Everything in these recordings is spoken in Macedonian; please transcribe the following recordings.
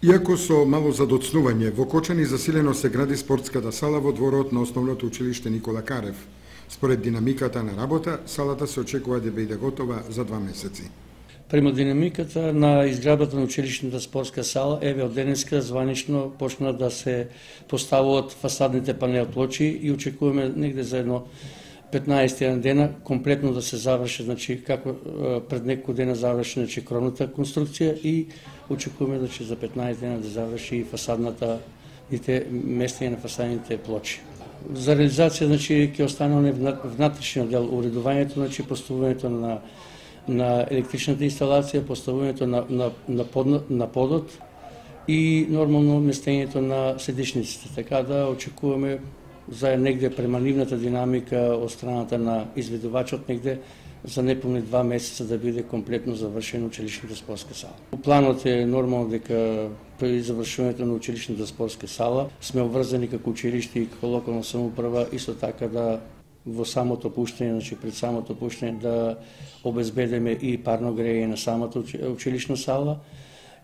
Иако со мало задоцнување, во Кочани засилено се гради спортската сала во дворот на Основното училиште Никола Карев. Според динамиката на работа, салата се очекува да биде готова за 2 месеци. Према динамиката на изградбата на училишната спортска сала, еве од денеска званично почна да се поставуваат фасадните панел плочи и очекуваме негде за едно 15 дена комплетно да се заврши, значи како пред неколку дена заврши кровната конструкција и очекуваме за 15 дена да заврши и фасадната местење на фасадните плочи. За реализација ќе остане внатрешниот дел, уредувањето, поставувањето на електричната инсталација, поставувањето на подот и нормално местењето на седишниците. Така да очекуваме за негде према нивната динамика од страната на изведувачот негде за неполни 2 месеца да биде комплетно завршена училишната спортска сала. Планот е нормално дека при завршувањето на училишната спортска сала сме обврзани како училиште и како локална самоуправа исто така да во самото пуштање, пред самото пуштање да обезбедиме и парно грејење на самата училишна сала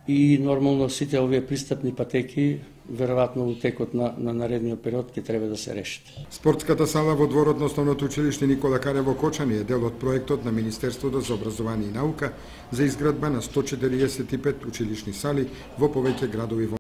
и нормално сите овие пристапни патеки веројатно во текот на наредниот период ќе треба да се решат. Спортската сала во дворот на Основното училиште Никола Карев во Кочани е дел од проектот на Министерството за образование и наука за изградба на 145 училишни сали во повеќе градови во